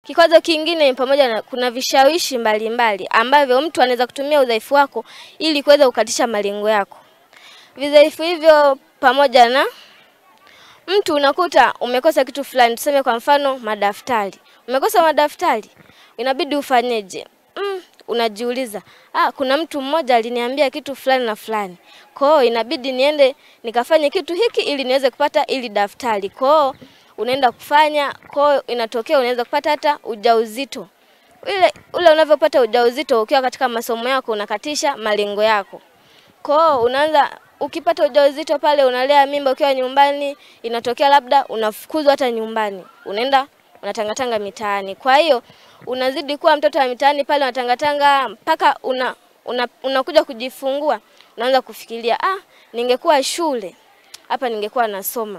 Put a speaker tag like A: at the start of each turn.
A: Kikwazo kingine ni pamoja na kuna vishawishi mbalimbali ambavyo mtu anaweza kutumia udhaifu wako ili kuweza kukatisha malengo yako. Vidhaifu hivyo pamoja na mtu unakuta umekosa kitu fulani, tuseme kwa mfano madaftari. Umekosa madaftari, inabidi ufanyeje? Unajiuliza, kuna mtu mmoja aliniambia kitu fulani na fulani. Kwa hiyo inabidi niende nikafanye kitu hiki ili niweze kupata ili daftari. Kwa hiyo unaenda kufanya, kwa hiyo inatokea unaweza kupata hata ujauzito. Ule unavyopata ujauzito ukiwa katika masomo yako unakatisha malengo yako. Kwa hiyo unaanza ukipata ujauzito pale unalea mimba ukiwa nyumbani, inatokea labda unafukuzwa hata nyumbani. Unaenda unatangatanga mitaani. Kwa hiyo unazidi kuwa mtoto wa mitaani pale, unatangatanga mpaka unakuja kujifungua. Unaanza kufikiria, ningekuwa shule hapa ningekuwa nasoma.